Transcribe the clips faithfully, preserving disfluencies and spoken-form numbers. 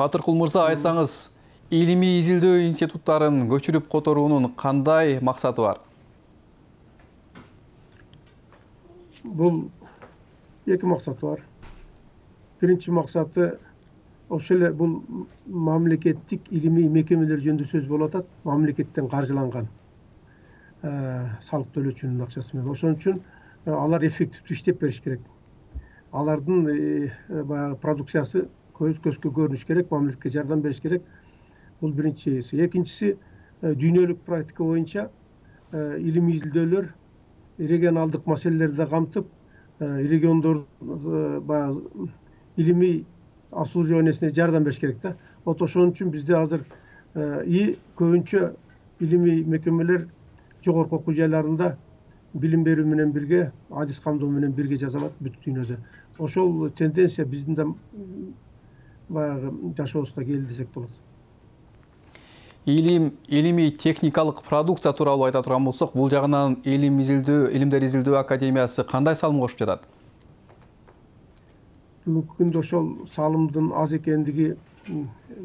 Батыркул мырза, айтсаңыз, илимий изилдөө институттарын көчүрүп которуунун кандай максаты бар? Бул эки максаты бар. Биринчи максаты ошол эле бул мамлекеттик илимий мекемелер жөнүндө сөз болуп атат. Мамлекеттен каржыланган салык төлөөчүнүн акчасы менен. Ошон үчүн алар эффективдүү иштеп бериш керек. Алардын баягы продукциясы көз көзгө көрүнүш керек, мамлекетке жардам бериш керек. Бул биринчиси. Экинчиси, дүйнөлүк практика боюнча илимий изилдөөлөр регионалдык маселелерди камтып, региондор баягы илимий обслуживаниясына жардам бериш керек да. Вот ошон үчүн бизде азыр и көбүнчө илимий мекемелер жогорку окуу жайларында билим берүү менен бирге, адис камдоо менен бирге жасалат бүт дүйнөдө. Ошол тенденция биздин да баягы жашообузга келди десек болот. Илим, илимий техникалык продукция тууралуу айта турган болсок, бул жагынан илим изилдөө, илимдер изилдөө академиясы кандай салым кошуп жатат? Бүгүнкү күндө ошол салымдын аз экендиги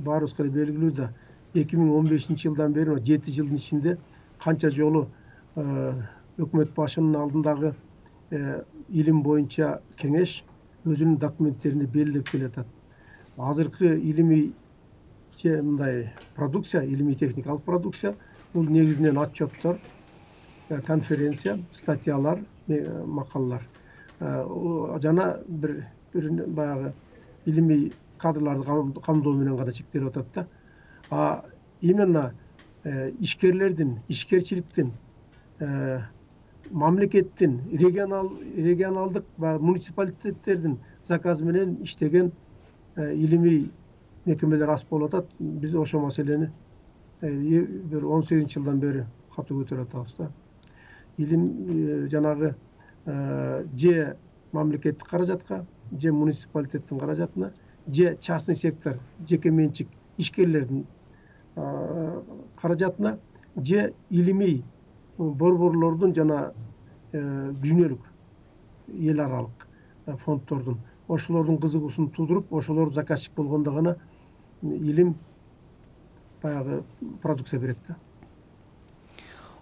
баарыбызга белгилүү да. эки миң он бешинчи жылдан бери жети жылдын ичинде канча жолу өкмөт башынын алдындагы илим боюнча кеңеш өзүнүн документтеринде белгилеп келатат. Азыркы илимий мындай продукция, илимий техникалык продукция бул негизинен отчеттор, конференция, статьялар, макалалар жана бир баягы илимий кадрларды камдоо менен гана чектелип атат да. А именно ишкерлердин, ишкерчиликтин, мамлекеттин, регионал регионалдык баягы муниципалитеттердин заказы менен иштеген илимий мекемелер аз болуп атат. Биз ошол маселени бир он сегизинчи жылдан бери катуу көтөрүп атабыз да. Илим жанагы же мамлекеттик каражатка, же муниципалитеттин каражатына, же частный сектор, жеке менчик ишкерлердин каражатына, же илимий борборлордун жана дүйнөлүк эл аралык фонддордун ошолордун кызыгуусун туудуруп, ошолор заказчик болгондо гана илим баягы продукция берет да.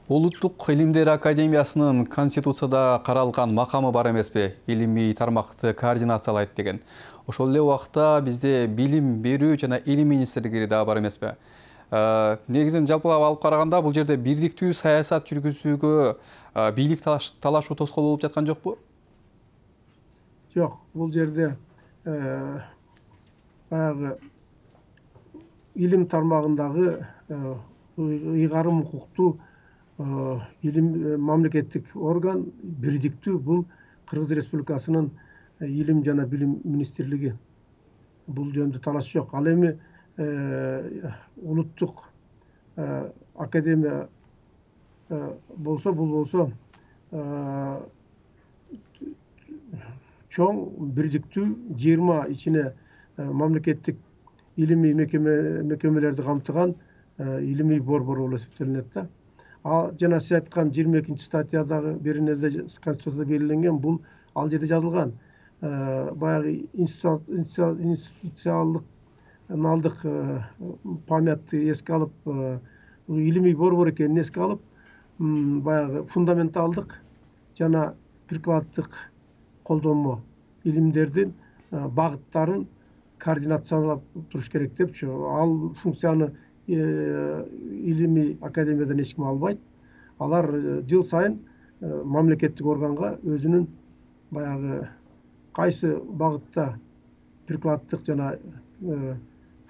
Улуттук илимдер академиясынын конституцияда каралган макамы бар эмеспи? Илимий тармакты координациялайт деген. Ошол эле убакта бизде билим берүү жана илим министрлиги да бар эмеспи? Негизинен жалпылап алып караганда бул жерде бирдиктүү саясат жүргүзүүгө бийлик талашуу тоскоол болуп жаткан жокпу? Жок, бул жерде баягы илим тармагындагы ыйгарым укуктуу илим мамлекеттик орган бирдиктүү бул Кыргыз Республикасынын илим жана билим министрлиги. Бул жөнүндө талаш жок. Ал эми улуттук академия болсо, бул болсо чоң бирдиктүү жыйырма ичине мамлекеттик илимий мекемелерди камтыган илимий борбор болуп эсептелинет да. А жана сиз айткан жыйырма экинчи статьядагы бирине конституцияда белгиленген, бул ал жерде жазылган. Баягы институциалдык налдык памятты эске алып, илимий борбор экенин эске алып, баягы фундаменталдык жана прикладдык колдонмо илимдердин багыттарын координациялап туруш керек депчи. Ал функцияны илимий академиядан эч ким албайт. Алар жыл сайын мамлекеттик органга өзүнүн баягы кайсы багытта прикладдык жана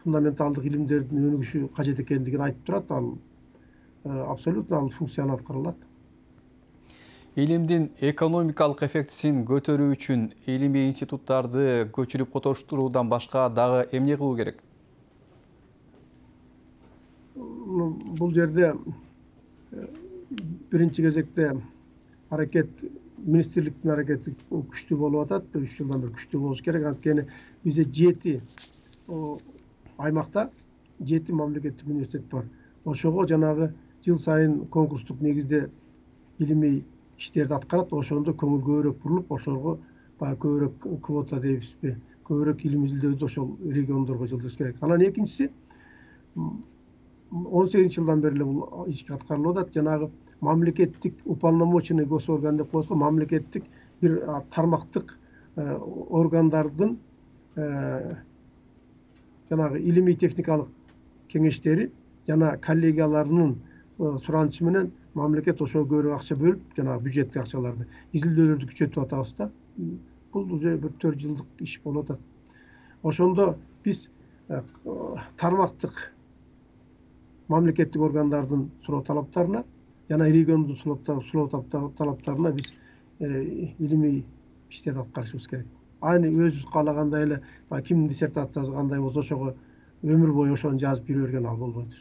фундаменталдык илимдердин өнүгүшү кажет экендигин айтып турат. Ал абсолютно ал функцияны аткарылат. Илимдин экономикалык эффектисин көтөрүү үчүн илимий институттарды көчүрүп которуштуруудан башка дагы эмне кылуу керек? Бул жерде биринчи кезекте аракет, министрликтин аракети күчтүү болуп атат. үч жылдан бери күчтүү болуш керек. Анткени бизде жети аймакта жети мамлекеттик университет бар. Ошого жанагы жыл сайын конкурстук негизде илимий иштерди аткарат. Ошондо көңүл көбүрөөк бурулуп, ошолорго баягы көбүрөөк квота дейбизби, көбүрөөк илим изилдөөдү ошол региондорго жылдыш керек. Анан экинчиси, он сегизинчи жылдан бери эле бул иш аткарылып атат. Жанагы мамлекеттик уполномоченный госорган деп коебузго, мамлекеттик бир тармактык органдардын жанагы илимий техникалык кеңештери жана коллегияларынын суранычы менен мамлекет ошого көбүрөөк акча бөлүп, жанагы бюджеттик акчаларды изилдөөлөрдү күчөтүп атабыз да. Бул уже бир төрт жылдык иш болуп атат. Ошондо биз тармактык мамлекеттик органдардын суроо талаптарына жана региондун суроо талаптарына биз илимий иштерди аткарышыбыз керек. Айны өзүбүз каалагандай эле кимдин диссертациясы кандай болсо ошого өмүр бою ошону жазып жүрө берген ал болбойт.